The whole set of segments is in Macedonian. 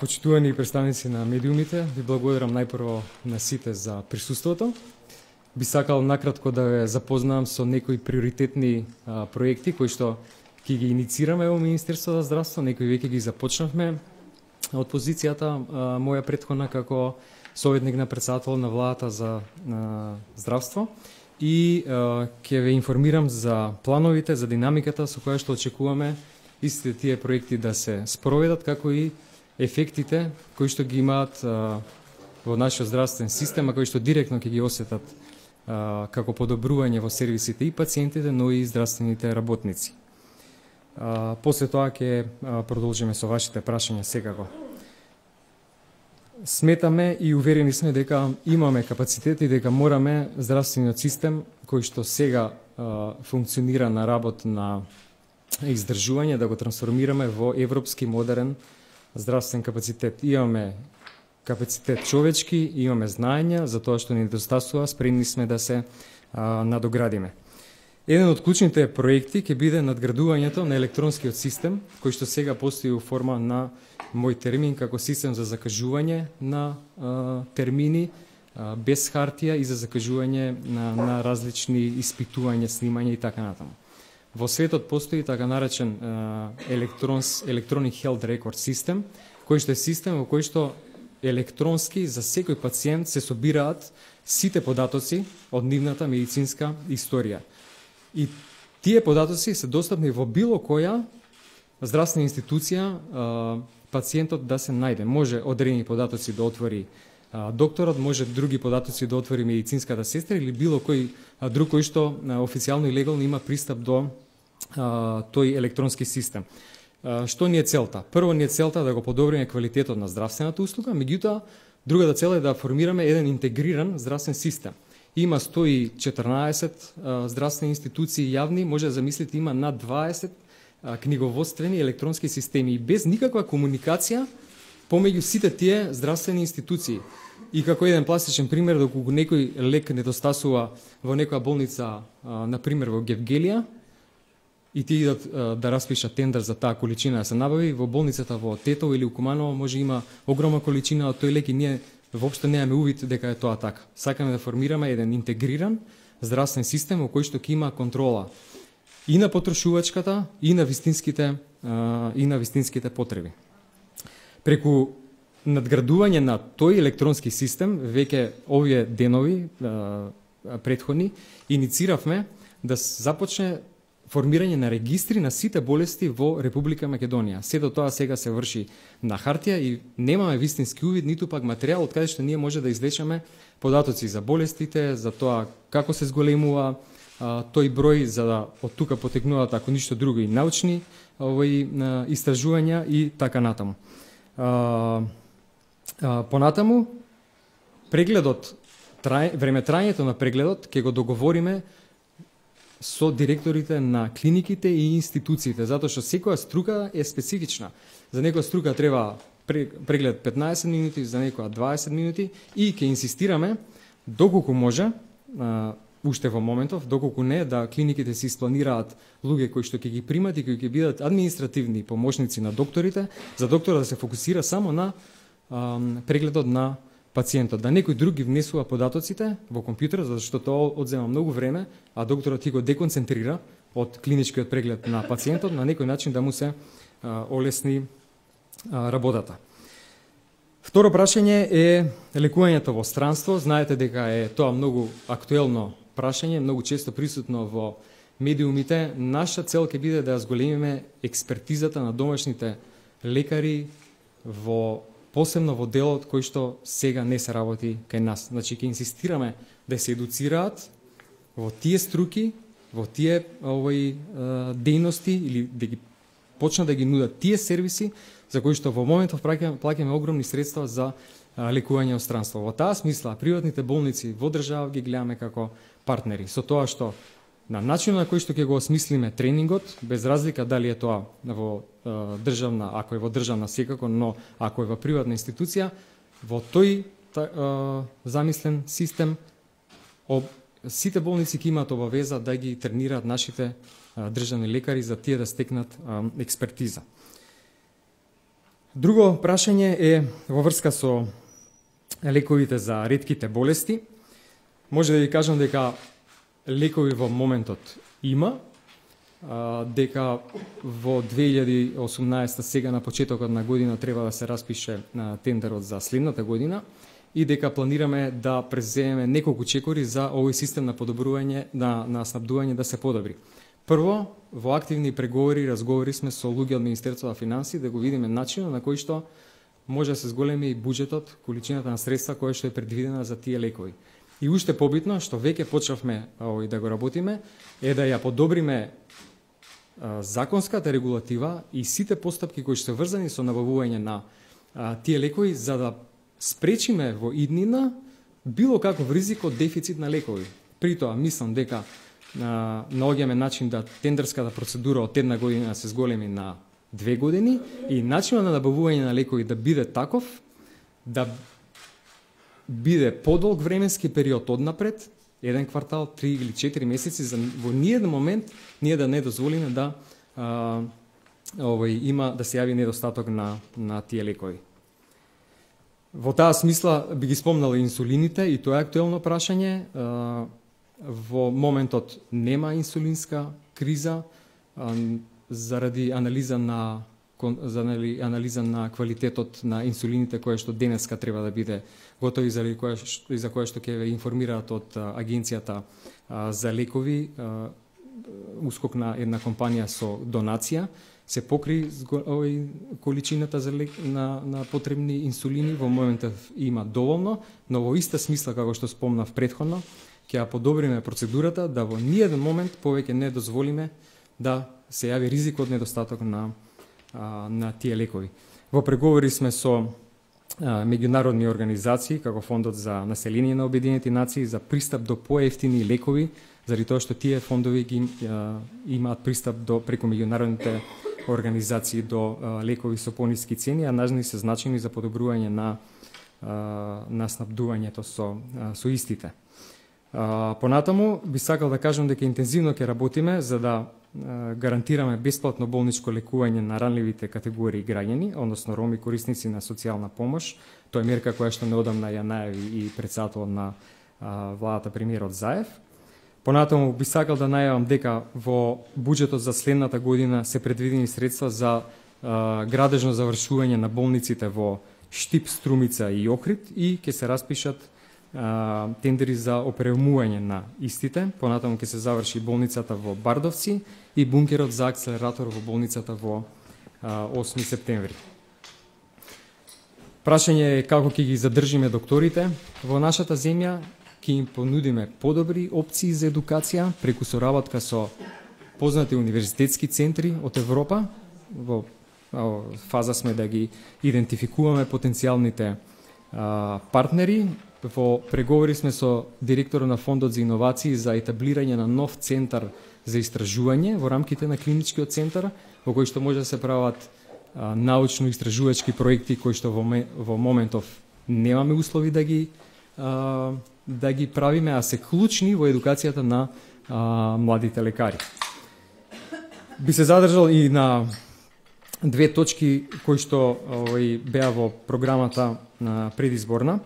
Почитувани представници на медиумите, ви благодарам најпрво на сите за присуството. Би сакал накратко да ве запознам со некои приоритетни проекти кои што ќе ги иницираме во Министерството за здравство, некои веќе ги започнавме од позицијата моја претходна како советник на председател на владата за здравство и ќе ве информирам за плановите, за динамиката со која што очекуваме истите тие проекти да се спроведат, како и ефектите кои што ги имаат во нашиот здравствен систем, а кои што директно ќе ги осетат како подобрување во сервисите и пациентите, но и здравствените работници. После тоа ќе продолжиме со вашите прашања секако. Сметаме и уверени сме дека имаме капацитет и дека мораме здравствениот систем кој што сега функционира на работ на издржување да го трансформираме во европски модерен здравствен капацитет. Имаме капацитет човечки, имаме знаења за тоа што ни недостасува, спремни сме да се надоградиме. Еден од клучните проекти ќе биде надградувањето на електронскиот систем, кој што сега постои во форма на мој термин како систем за закажување на термини без хартија и за закажување на различни испитувања, снимања и така натаму. Во светот постои така наречен Electronic Health Record System, кој што е систем во кој што електронски за секој пациент се собираат сите податоци од нивната медицинска историја. И тие податоци се достапни во било која здравствена институција пациентот да се најде. Може одредени податоци да отвори докторот, може други податоци да отвори медицинската сестра или било кој друг кој што официјално и легално има пристап до тој електронски систем. Што ни е целта? Прво ни е целта да го подобриме квалитетот на здравствената услуга, меѓутоа другата цел е да формираме еден интегриран здравствен систем. Има 114 здравствени институции јавни, може да замислите има над 20 книговодствени електронски системи и без никаква комуникација помеѓу сите тие здравствени институции. И како еден пластичен пример, доколку некој лек недостасува во некоја болница, например во Гевгелија, и ти идат да распишат тендер за таа количина да се набави, во болницата во Тетово или у Куманово може има огромна количина од тој лек и ние воопшто немаме увид дека е тоа така. Сакаме да формираме еден интегриран здравствен систем во кој што ќе има контрола и на потрошувачката, и на вистинските потреби. Преку надградување на тој електронски систем, веќе овие денови претходни, иницииравме да започне формирање на регистри на сите болести во Република Македонија. Сето тоа сега се врши на хартија и немаме вистински увид, ниту пак материјал од каде што ние може да извлечеме податоци за болестите, за тоа како се зголемува тој број, за да од тука потекнуваат, ако ништо друго, и научни истражувања и така натаму. Понатаму, прегледот, времетрањето на прегледот ќе го договориме со директорите на клиниките и институциите, затоа што секоја струка е специфична. За некоја струка треба преглед 15 минути, за некоја 20 минути и ќе инсистираме доколку може, уште во моментов, доколку не, да клиниките се испланираат луѓе кои што ќе ги примат и кои ќе бидат административни помошници на докторите, за доктора да се фокусира само на прегледот на пациентот, да некој друг ги внесува податоците во компјутерот, зашто тоа одзема многу време, а докторот ти го деконцентрира од клиничкиот преглед на пациентот, на некој начин да му се олесни работата. Второ прашање е лекувањето во странство. Знаете дека е тоа многу актуелно прашање, многу често присутно во медиумите. Наша цел ќе биде да зголемиме експертизата на домашните лекари посебно во делот кој што сега не се работи кај нас. Значи, ќе инсистираме да се едуцираат во тие струки, во тие дејности или да ги почнат да ги нудат тие сервиси за кои што во моментов плаќаме огромни средства за лекување од странство. Во таа смисла, приватните болници во држава ги гледаме како партнери, со тоа што на начинот на кој што ќе го осмислиме тренингот, без разлика дали е тоа во државна, ако е во државна секако, но ако е во приватна институција, во тој замислен систем сите болници ќе имаат обавеза да ги тренираат нашите државни лекари за тие да стекнат експертиза. Друго прашање е во врска со лековите за ретките болести. Може да ви кажам дека лекови во моментот има, дека во 2018 сега на почетокот на година треба да се распише тендерот за следната година и дека планираме да преземеме неколку чекори за овој систем на подобрување на снабдување да се подобри. Прво, во активни преговори, разговори сме со луѓе од Министерството на финансии да го видиме начинот на кој што може да се зголеми буџетот, количината на средства која што е предвидена за тие лекови. И уште побитно, што веќе почнавме да го работиме, е да ја подобриме законската регулатива и сите постапки кои што се врзани со набавување на тие лекови, за да спречиме во иднина било каков ризик од дефицит на лекови. При тоа, мислам дека наоѓаме начин да тендерската процедура од една година се зголеми на 2 години и начинот на набавување на лекови да биде таков, да биде подолг временски период однапред, 1 квартал, 3 или 4 месеци, за во ниеден момент ние да не дозволиме да има да се јави недостаток на тие лекови. Во таа смисла би ги спомнал инсулините и тоа е актуелно прашање. Во моментот нема инсулинска криза заради анализа на квалитетот на инсулините која што денеска треба да биде готови за која што ќе ве информираат од агенцијата за лекови, ускок на една компанија со донација, се покри количината на потребни инсулини. Во моментот има доволно, но во иста смисла како што спомнав претходно, ќе ја подобриме процедурата да во ниеден момент повеќе не дозволиме да се јави ризик од недостаток на тие лекови. Во преговори сме со меѓународни организации, како Фондот за население на Обединените нации, за пристап до поевтини лекови, заради тоа што тие фондови имаат пристап преку меѓународните организации до лекови со пониски цени, а нажни се значени за подобрување на снабдувањето со истите. Понатаму би сакал да кажам дека интензивно ќе работиме за да гарантираме бесплатно болничко лекување на ранливите категории граѓани, односно роми корисници на социјална помош. Тоа е мерка која што неодамна ја најави и председател на владата премиерот Заев. Понатаму би сакал да најавам дека во буџетот за следната година се предвидени средства за градежно завршување на болниците во Штип, Струмица и Охрид и ќе се распишат тендери за опремување на истите. Понатаму ќе се заврши болницата во Бардовци и бункерот за акселератор во болницата во 8 септември. Прашање е како ќе ги задржиме докторите во нашата земја, ќе им понудиме подобри опции за едукација преку соработка со познати универзитетски центри од Европа. Во фаза сме да ги идентификуваме потенцијалните партнери. Во преговори сме со директорот на Фондот за иновации за етаблирање на нов центар за истражување во рамките на клиничкиот центар, во кој што може да се прават научно-истражувачки проекти кои што во моментов немаме услови да ги правиме, а се клучни во едукацијата на младите лекари. Би се задржал и на две точки кои што беа во програмата предизборна.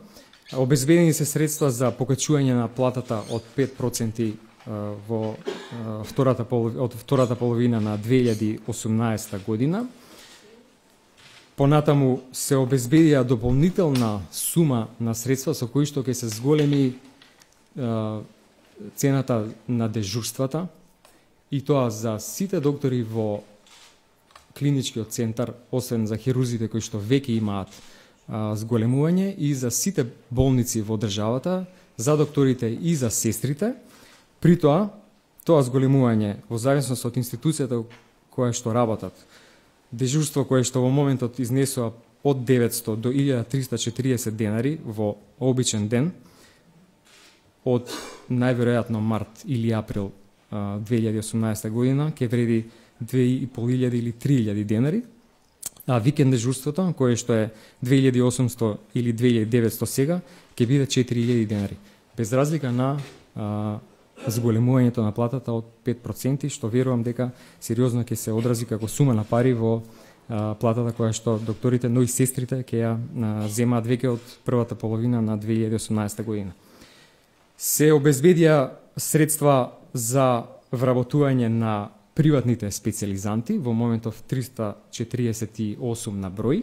Обезбедени се средства за покачување на платата од 5% во втората половина на 2018 година. Понатаму се обезбедија дополнителна сума на средства со кои што ќе се зголеми цената на дежурствата и тоа за сите доктори во клиничкиот центар, освен за хирурзите кои што веќе имаат зголемување и за сите болници во државата, за докторите и за сестрите. При тоа зголемување во зависност од институцијата која што работат, дежурство кое што во моментот изнесува од 900 до 1340 денари во обичен ден, од најверојатно март или април 2018 година ќе вреди 2500 или 3000 денари, а викенд дежурството, кое што е 2800 или 2900 сега, ќе биде 4000 денари. Без разлика на зголемувањето на платата од 5%, што верувам дека сериозно ќе се одрази како сума на пари во платата која што докторите, но и сестрите ќе ја земаат веќе од првата половина на 2018 година. Се обезбедија средства за вработување на приватните специализанти, во моментов 348 на број,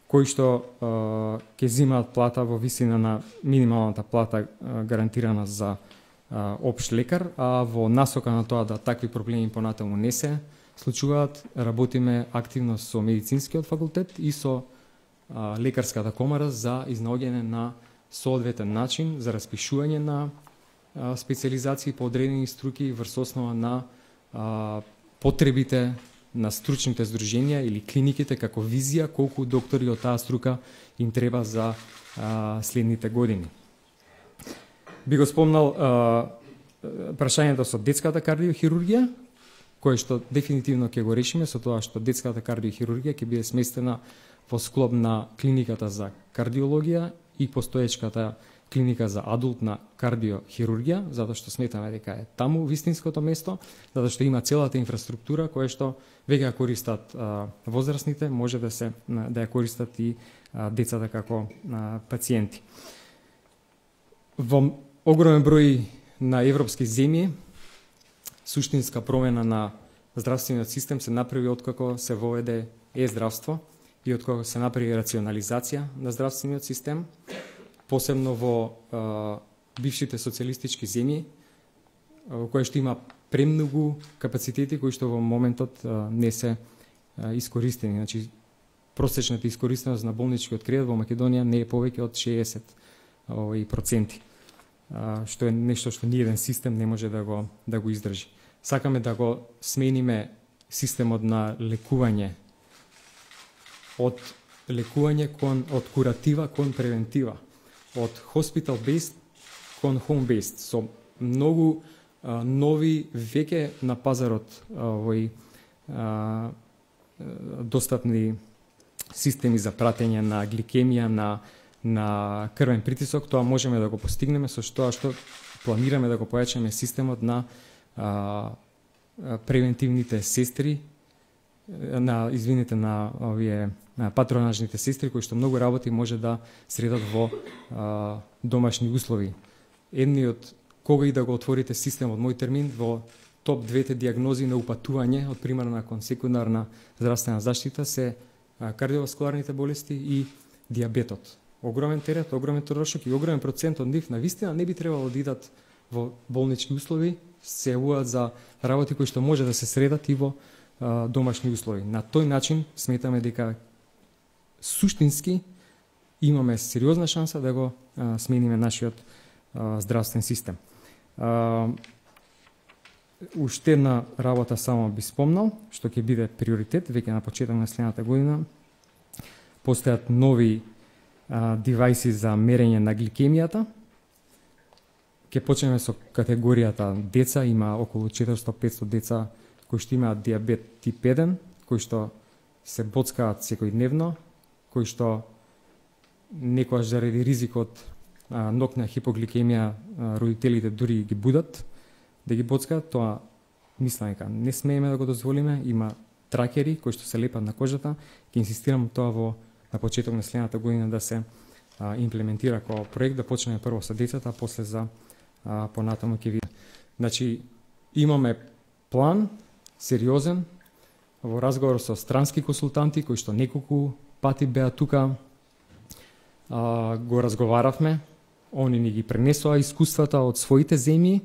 кои што ќе земаат плата во висина на минималната плата гарантирана за општ лекар, а во насока на тоа да такви проблеми понатаму не се случуваат, работиме активно со медицинскиот факултет и со лекарската комара за изнаоѓање на соодветен начин за распишување на специализации по одредени струки врз основа на потребите на стручните здруженија или клиниките како визија колку доктори од таа струка им треба за следните години. Би го спомнал прашањето со детската кардиохирургија, кое што дефинитивно ќе го решиме со тоа што детската кардиохирургија ќе биде сместена во склоп на клиниката за кардиологија и постоечката клиника за адултна кардиохирургија, затоа што сметаме дека е таму вистинското место, затоа што има целата инфраструктура која што веќе ја користат возрастните, може да ја користат и децата како пациенти. Во огромен број на европски земји суштинска промена на здравствениот систем се направи откако се воведе е-здравство и откако се направи рационализација на здравствениот систем, посебно во бившите социјалистички земји, во кои што има премногу капацитети кои што во моментот не се искористени. Значи, просечната искористеност на болничкиот кредит во Македонија не е повеќе од 60%, што е нешто што ниеден систем не може да го издржи. Сакаме да го смениме системот на лекување од куратива кон превентива, од hospital-based кон home-based, со многу нови веќе на пазарот достапни системи за пратење на гликемија, на крвен притисок. Тоа можеме да го постигнеме со тоа што планираме да го појачаме системот на превентивните сестри, на овие патронажните сестри кои што многу работи може да средат во домашни услови. Едниот, кога и да го отворите системот, мој термин, во топ 2 диагнози на упатување од примарна кон секундарна здравствена заштита се кардиоваскуларните болести и диабетот. Огромен терет, огромен трошок и огромен процент од нив навистина не би требало да идат во болнички услови, се јавуваат за работи кои што може да се средат и во домашни услови. На тој начин сметаме дека суштински имаме сериозна шанса да го смениме нашиот здравствен систем. Уште една работа само би спомнал, што ќе биде приоритет веќе на почеток на следната година. Постојат нови девајси за мерење на гликемијата. Ќе почнеме со категоријата деца, има околу 400-500 деца кои што имаат диабет тип 1, кои што се боцкаат секојдневно, кои што некојаш заради ризикот ноќна хипогликемија родителите дури ги будат да ги боцкаат. Тоа мислам дека не смееме да го дозволиме. Има тракери кои што се лепат на кожата. Ќе инсистирам тоа на почеток на следната година да се имплементира како проект, да почнеме прво со децата, а после за понатаму ќе видиме. Значи, имаме план сериозен во разговор со странски консултанти кои што неколку пати беа тука, го разговаравме, они ни ги пренесоа искуствата од своите земји.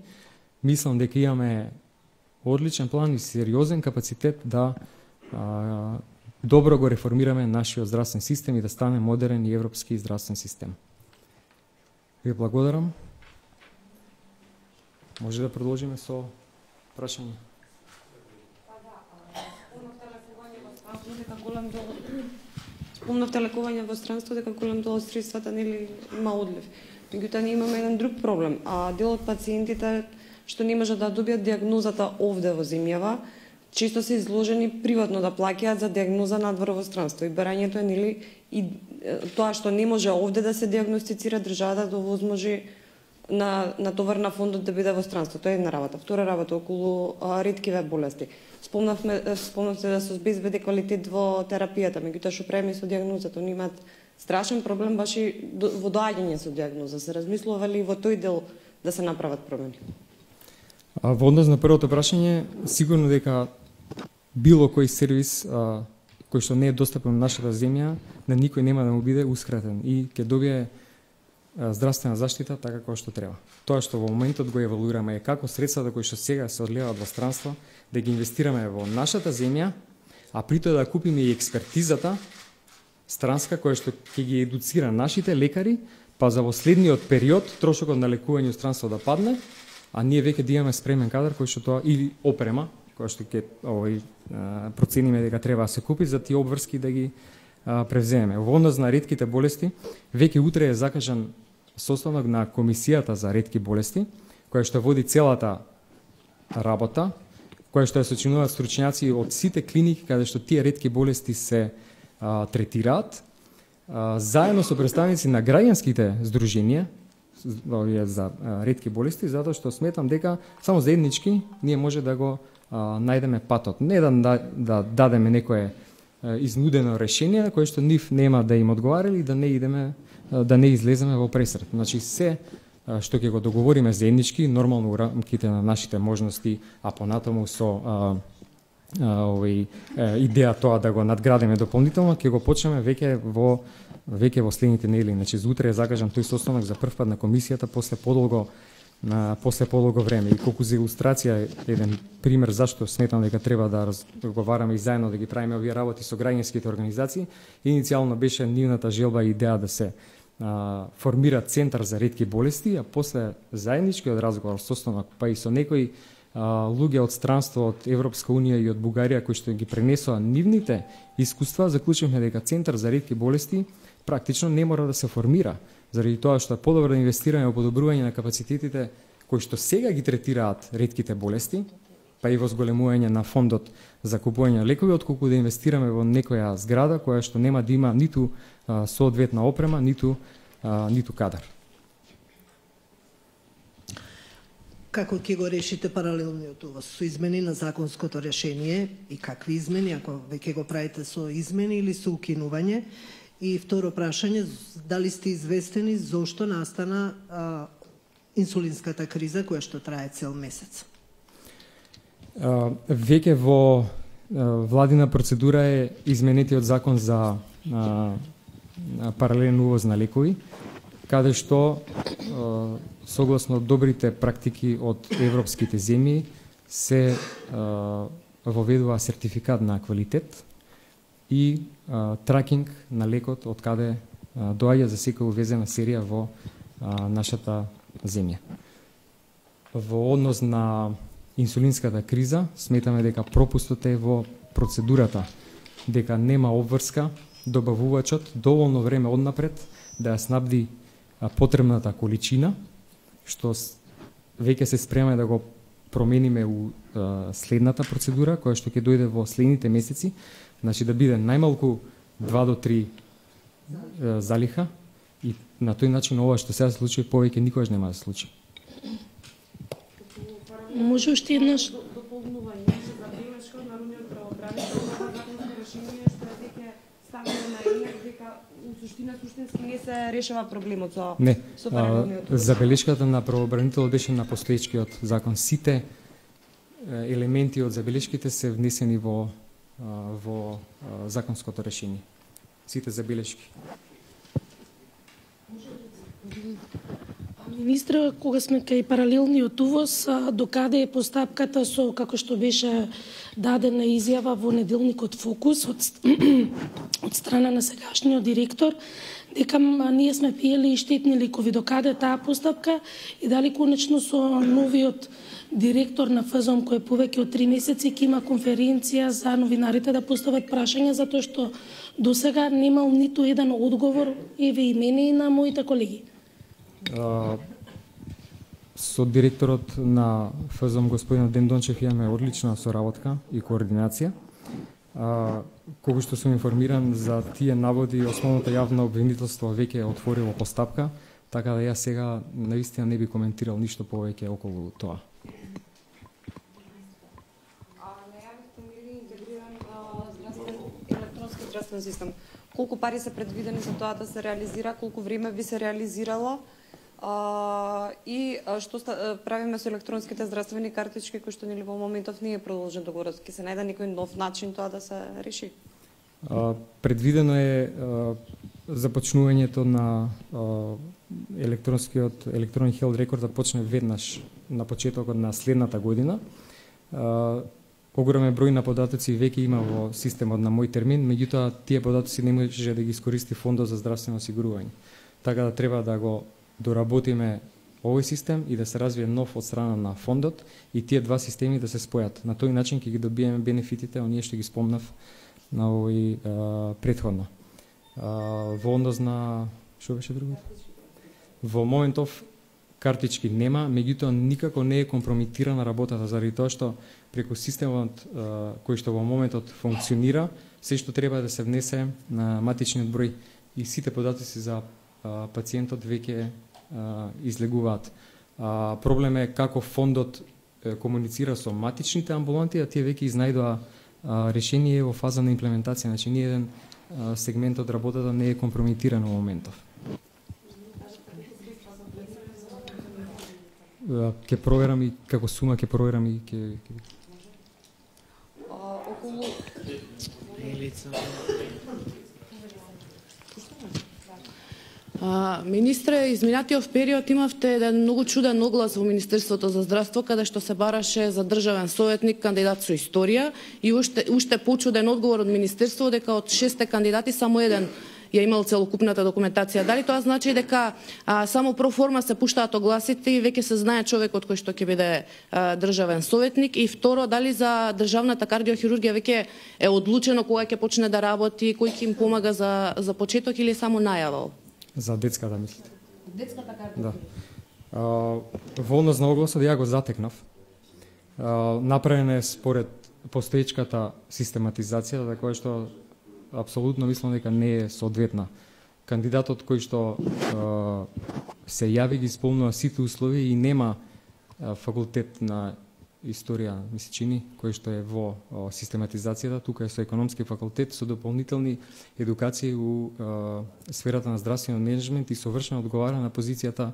Мислам дека имаме одличен план и сериозен капацитет да добро го реформираме нашиот здравствен систем и да стане модерен и европски здравствен систем. Ви благодарам. Може да продолжиме со прашање. Спомнавте лекување во странство, дека голем дел од средствата нели има одлив. Меѓутоа ние имаме еден друг проблем, дел од пациентите што не можат да добијат диагнозата овде во земјава, често се изложени приватно да плаќаат за диагноза надвор во странство. И барањето е нели и тоа што не може овде да се диагностицира, државата да овозможи на товар на фондот да биде во странство. Тоа е една работа. Втора работа околу реткиве болести. Спомнавте да се обезбеди квалитет во терапијата, меѓутоа што правиме со дијагнозата, они имаат страшен проблем баш и во доаѓање со дијагноза. Се размислува ли во тој дел да се направат промени? Во однос на првото прашање, сигурно дека било кој сервис кој што не е достапен на нашата земја, на никој нема да му биде ускратен и ќе добие здравствена заштита така како што треба. Тоа што во моментот го евалуираме е како средствата кои што сега се одливаат во странство, да ги инвестираме во нашата земја, а при тоа да купиме и експертизата странска која што ќе ги едуцира нашите лекари, па за во следниот период трошокот на лекување во странство да падне, а ние веќе да имаме спремен кадар кој што тоа или опрема која што ќе процениме дека треба да се купи за тие обврски да ги превземеме. Во однос на ретките болести, веќе утре е закажан состанок на Комисијата за ретки болести, која што води целата работа, која што ја сочинуваат стручњаци од сите клиники каде што тие ретки болести се третираат, заедно со представници на граѓанските здруженија за ретки болести, затоа што сметам дека само заеднички ние може да го најдеме патот. Не да дадеме некое изнудено решение кое што нив нема да им одговара или да не излеземе во пресрет. Значи се што ќе го договориме заеднички, нормално во рамките на нашите можности, а понатаму со идеја тоа да го надградиме дополнително, ќе го почнеме веќе во следните недели. Значи за утре е закажан тој состанок за прв пат на комисијата после подолго време. И колку за илустрација еден пример зашто сметам дека треба да разговараме и заедно да ги правиме овие работи со граѓанските организации, иницијално беше нивната желба и идеја да се формира центар за ретки болести, а после заедничкиот разговор состанок, па и со некои луѓе од странство од Европска унија и од Бугарија кои што ги пренесоа нивните искуства, заклучивме дека центар за ретки болести практично не мора да се формира, заради тоа што е подобро да инвестираме во подобрување на капацитетите кои што сега ги третираат ретките болести, па и во зголемување на фондот за купување на лекови, отколку да инвестираме во некоја зграда која што нема да има ниту соодветна опрема, ниту кадар. Како ќе го решите паралелниот увоз? Со измени на законското решение и какви измени, ако веќе го правите со измени или со укинување? И второ прашање, дали сте известени зошто настана инсулинската криза која што трае цел месец? Веќе во владина процедура е изменетиот закон за паралелен увоз на лекови, каде што согласно добрите практики од европските земји се воведува сертификат на квалитет и тракинг на лекот од каде доаѓа за секоја увезена серија во нашата земја. Во однос на инсулинската криза, сметаме дека пропустот е во процедурата, дека нема обврска добавувачот доволно време однапред да ја снабди потребната количина, што веќе се спремаме да го промениме у следната процедура, која што ќе дојде во следните месеци, значи да биде најмалку 2 до 3 залиха и на тој начин ова што сега се случи повеќе никогаш нема да се случи. Може уште еднаш дополнување за забелешка од народниот правобранител ова законско решение што е дека ставено на ењак дека суштински не се решава проблемот со паралелниот увоз. Забелешката на правобранителот беше на постоечкиот закон. Сите елементи од забелешките се внесени во законското решение. Сите забелешки. Министра, кога сме кај паралелниот увоз, докаде е постапката со, како што беше дадена изјава во неделникот Фокус од страна на сегашниот директор, дека ние сме пиели и штетни лекови, докаде таа постапка и дали конечно со новиот директор на ФЗОМ кој повеќе од 3 месеци ќе има конференција за новинарите да постават прашања, затоа што досега немал ниту еден одговор, еве и мене и на моите колеги. Со директорот на ФЗОМ господин Ден Дончев имаме одлична соработка и координација. Колку што сум информиран за тие наводи, основното јавно обвинителство веќе е отворило постапка Така да јас сега наистина не би коментирал ништо повеќе околу тоа. Електронски здравствен систем. Колку пари се предвидени за тоа да се реализира, колку време би се реализирало и што правиме со електронските здравствени картички кои што нели во моментов не е продолжен договорот, ќе се најде некој нов начин тоа да се реши? Предвидено е започнувањето на електронен health record да почне веднаш на почетокот на следната година. Огромен број на податоци веќе има во системот на мој термин, меѓутоа тие податоци не може да ги искористи Фондот за здравствено осигурување. Така да треба да го доработиме овој систем и да се развие нов од страна на фондот и тие два системи да се спојат. На тој начин ќе ги добиеме бенефитите, оние што ги спомнав на овој претходно. Во однос на што беше другото? Во моментов картички нема, меѓутоа никако не е компрометирана работата заради тоа што преку системот кој што во моментот функционира, се што треба да се внесе на матичниот број и сите податоци за пациентот веќе излегуваат. Проблем е како фондот комуницира со матичните амбуланти, а тие веќе изнајдоа решение во фаза на имплементација, значи ни еден сегмент од работата не е компрометиран во моментов. Ќе проверам и како сума ќе проверам и ќе околу Министре, изминатиот период имавте еден многу чуден оглас во Министерството за здравство, каде што се бараше за државен советник кандидат со историја и уште почуден одговор од Министерството дека од 6 кандидати само еден ја имал целокупната документација. Дали тоа значи дека само проформа се пуштаат огласите и веќе се знае човекот кој што ќе биде државен советник? И второ, дали за државната кардиохирургија веќе е одлучено кога ќе почне да работи, кој ќе им помага за почеток или само најава? За детската мислите? Детската кардиохирургија. Да. Во однос на огласот ја го затекнав. Направена е според постоечката систематизација, за која што апсолутно мислам дека не е соодветна. Кандидатот кој што се јави ги исполнува сите услови и нема факултет на историја, ми се чини, кој што е во систематизацијата, тука е со економски факултет, со дополнителни едукации у сферата на здравствен менеджмент и совршено одговара на позицијата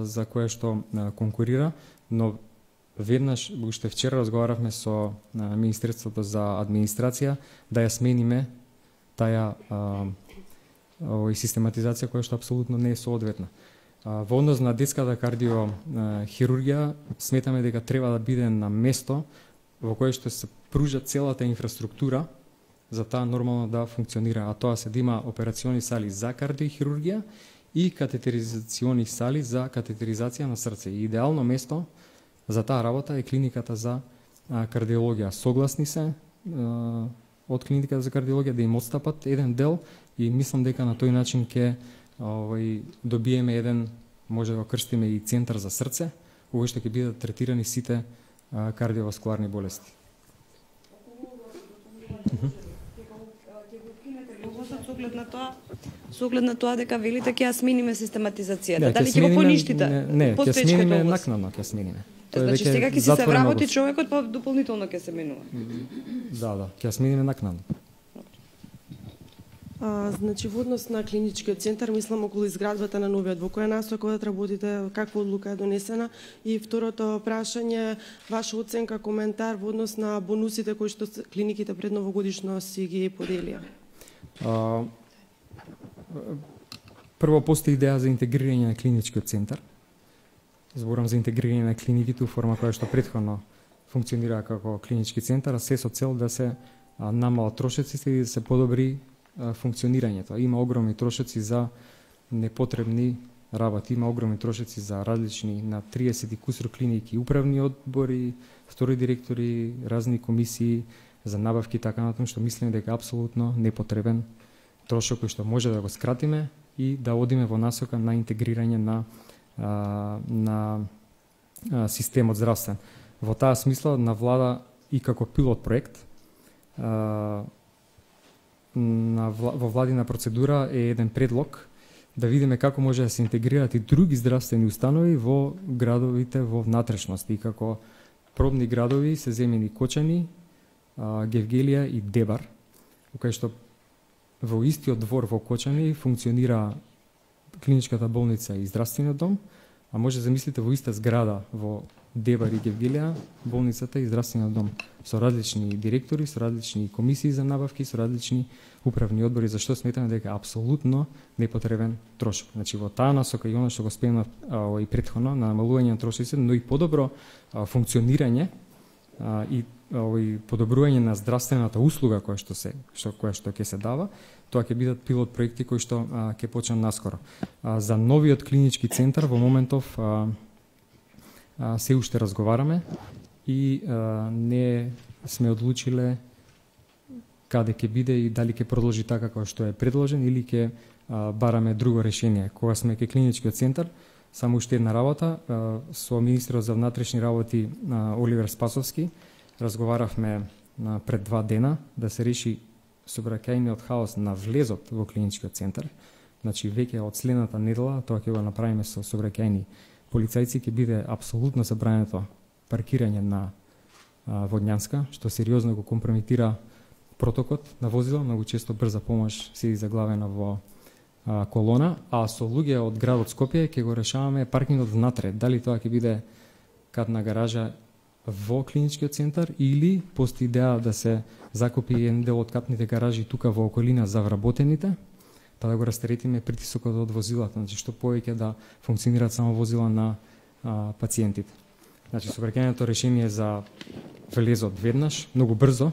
за која што конкурира, но веднаш, уште вчера разговаравме со Министерството за администрација да ја смениме таа систематизација која што апсолутно не е соодветна. Во однос на детската кардиохирургија сметаме дека треба да биде на место во кое што се пружа целата инфраструктура за таа нормално да функционира, а тоа се да има операциони сали за кардиохирургија и катетеризациони сали за катетеризација на срце. И идеално место за таа работа е клиниката за кардиологија. Согласни се од клиниката за кардиологија да им отстапат еден дел и мислам дека на тој начин ќе добиеме еден, може да го крстиме и центар за срце, во кој што ќе бидат третирани сите кардиоваскуларни болести. Со оглед на тоа дека велите ќе ја смениме систематизацијата, дали ќе го поништите? Не, ќе смениме накнадно, ќе смениме. Значи сега ќе се вработи човекот, па дополнително ќе се менува. Да, ќе смениме накнадно. Значи во однос на клиничкиот центар, мислам околу изградбата на новиот, во која насока да работите, каква одлука е донесена? И второто прашање, ваша оценка, коментар во однос на бонусите кои што клиниките пред новогодишно си ги поделија? Прво, постои идеја за интегрирање на клиничкиот центар. Зборам за интегрирање на клиниките у форма која што претходно функционира како клинички центар, а се со цел да се намалат трошоците и да се подобри функционирањето. Има огромни трошоци за непотребни работи, има огромни трошоци за различни на 30 и кусур клиники, управни одбори, втори директори, разни комисии за набавки и така натаму, што мислиме дека апсолутно непотребен трошок кој што може да го скратиме и да одиме во насока на интегрирање на системот здравствен. Во таа смисла на влада и како пилот проект во владина процедура е еден предлог да видиме како може да се интегрираат и други здравствени установи во градовите во внатрешност. И како пробни градови се земени Кочани, Гевгелија и Дебар, кај што во истиот двор во Кочани функционира клиничката болница и здравствениот дом, а може да замислите во иста зграда во Дебар и Гевгелија, болницата и здравствениот дом, со различни директори, со различни комисии за набавки, со различни управни одбори, зашто сметаме дека е апсолутно непотребен трошок. Значи во таа насока и она што го спомнав и претходно на намалување на трошоците, но и подобро функционирање и подобрување на здравствената услуга која што ќе се дава, тоа ќе бидат пилот проекти кои што ќе почнат наскоро. За новиот клинички центар во моментов се уште разговараме и не сме одлучиле каде ќе биде и дали ќе продолжи така како што е предложен или ќе бараме друго решение. Кога сме кај клиничкиот центар, само уште една работа, со министерот за внатрешни работи Оливер Спасовски разговаравме пред 2 дена да се реши сообраќајниот хаос на влезот во клиничкиот центар. Значи веќе од следната недела, тоа ќе го направиме со сообраќајни полицајци, ќе биде апсолутно забрането паркирање на Водњанска, што сериозно го компрометира протокот на возила, многу често брза помош се заглавена во колона, а со луѓе од градот Скопје ќе го решаваме паркингот внатре. Дали тоа ќе биде катна гаража во клиничкиот центар или постои идеја да се закупи еден дел од катните гаражи тука во околина за вработените, па да го растеретиме притисокот од возилата, значи што повеќе да функционираат само возила на пациентите. Значи сообраќајното решение за влезот веднаш, многу брзо,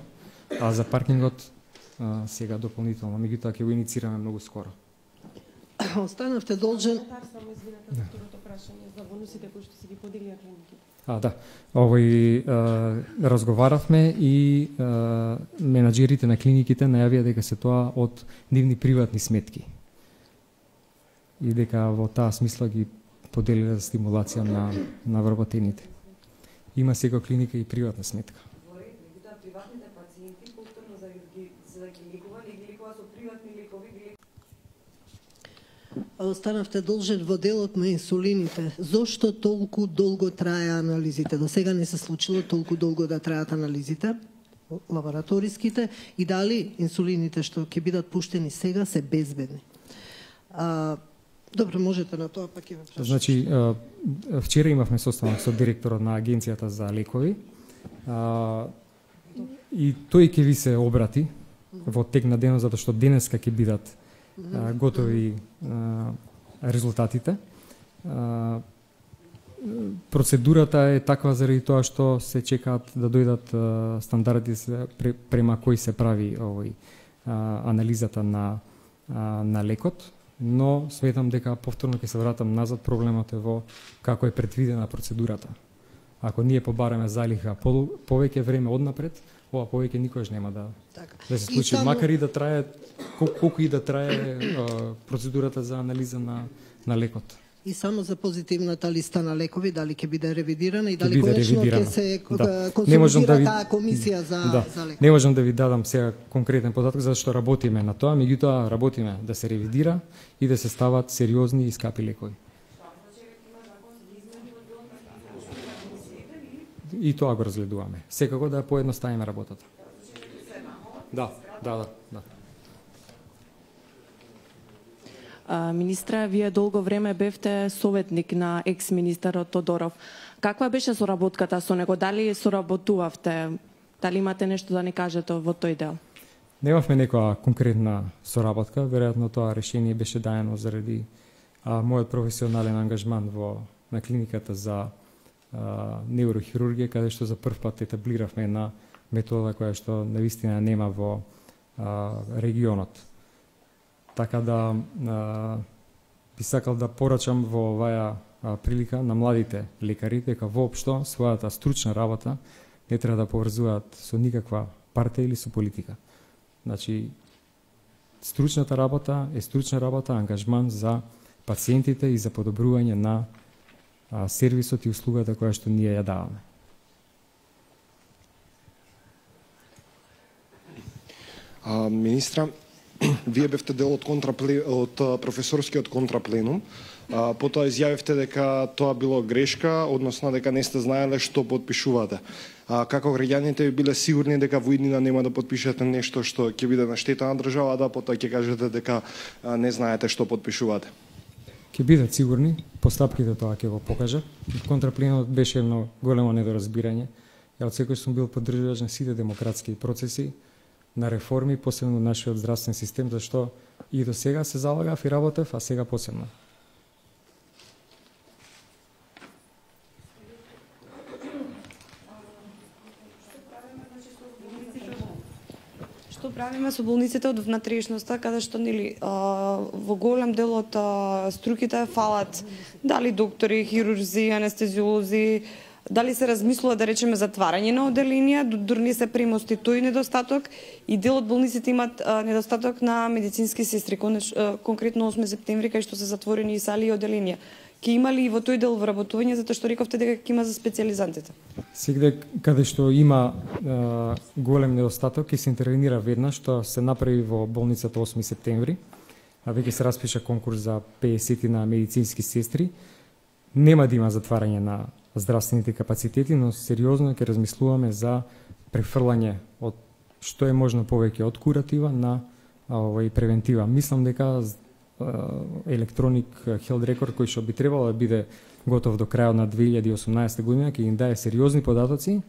а за паркингот сега дополнително, меѓутоа ќе го иницираме многу скоро. Останавте должен. Само извинете за второто прашање за бонусите кои што се ги поделија клиниките. Да. Разговаравме и менаџерите на клиниките најавија дека се тоа од нивни приватни сметки. И дека во таа смисла ги поделиле за стимулација на вработените. Има сега клиника и приватна сметка. Приватните пациенти повторно за да ги лекува со приватни лекови. Останавте должен во делот на инсулините. Зошто толку долго трае анализите? До сега не се случило толку долго да траат анализите, лабораториските, и дали инсулините што ќе бидат пуштени сега се безбедни? Добро, можете на тоа, па ќе ме прашате. Значи, вчера имавме состанок со директорот на Агенцијата за лекови и тој ќе ви се обрати во тек на денот, затоа што денеска ќе бидат готови резултатите. Процедурата е таква заради тоа што се чекаат да дојдат стандарди према кои се прави анализата на лекот, но сметам дека повторно ќе се вратам назад, проблемот е во како е предвидена процедурата. Ако ние побараме залиха повеќе време однапред, ова повеќе никогаш нема да се случи, макар и да трае колку и да трае процедурата за анализа на лекот. И само за позитивната листа на лекови, дали ќе биде ревидирана и дали конечно ќе се консолидира таа комисија за лекови. Не можам да ви дадам сега конкретен податок, зашто работиме на тоа, меѓутоа работиме да се ревидира и да се стават сериозни и скапи лекови. И тоа го разгледуваме. Секако да поедноставиме работата. Да. Министре, вие долго време бевте советник на екс-министерот Тодоров. Каква беше соработката со него? Дали соработувавте? Дали имате нешто да ни кажете во тој дел? Немавме некоја конкретна соработка. Веројатно тоа решение беше даено заради мојот професионален ангажман на клиниката за неврохирургија, каде што за прв пат етаблиравме една метода која што навистина нема во регионот. Така да би сакал да порачам во оваа прилика на младите лекари дека воопшто својата стручна работа не треба да поврзуваат со никаква партија или со политика. Значи, стручната работа е стручна работа, ангажман за пациентите и за подобрување на сервисот и услугата која што ние ја даваме. Министра, Вие бевте дел од професорскиот контрапленум. Потоа изјавивте дека тоа било грешка, односно дека не сте знаеле што подпишувате. Како граѓаните би биле сигурни дека во иднина нема да подпишете нешто што ќе биде на штета на државата, потоа ќе кажете дека не знаете што подпишувате? Ќе бидат сигурни, постапките тоа ќе го покажат. Контрапленумот беше едно големо недоразбирање. Ја од секој сум бил поддржувач на сите демократски процеси, на реформи, посебно нашиот здравствен систем, зашто и до сега се залагав и работев, а сега посебно. Што правиме со болниците од внатрешноста, каде што во голем дел од струките фалат дали доктори, хирурзи, анестезиолози, дали се размислува да речеме затварање на оделенија, дури не се премости тој недостаток и дел од болниците имат недостаток на медицински сестри, конкретно 8 септември кај што се затворени и сали и оделенија. Ке има ли и во тој дел вработување, затоа што рековте дека ќе има за специјализантите? Сегде каде што има голем недостаток ќе се интервенира веднаш, што се направи во болницата 8 септември, а веќе се распиша конкурс за 50 на медицински сестри. Нема да има затварање на здравствените капацитети, но сериозно ќе размислуваме за префрлање од што е можно повеќе од куратива на превентива. Мислам дека електроник health record кој што би требало да биде готов до крајот на 2018 година ќе им даде сериозни податоци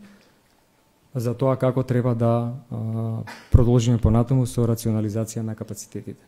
за тоа како треба да продолжиме понатаму со рационализација на капацитетите.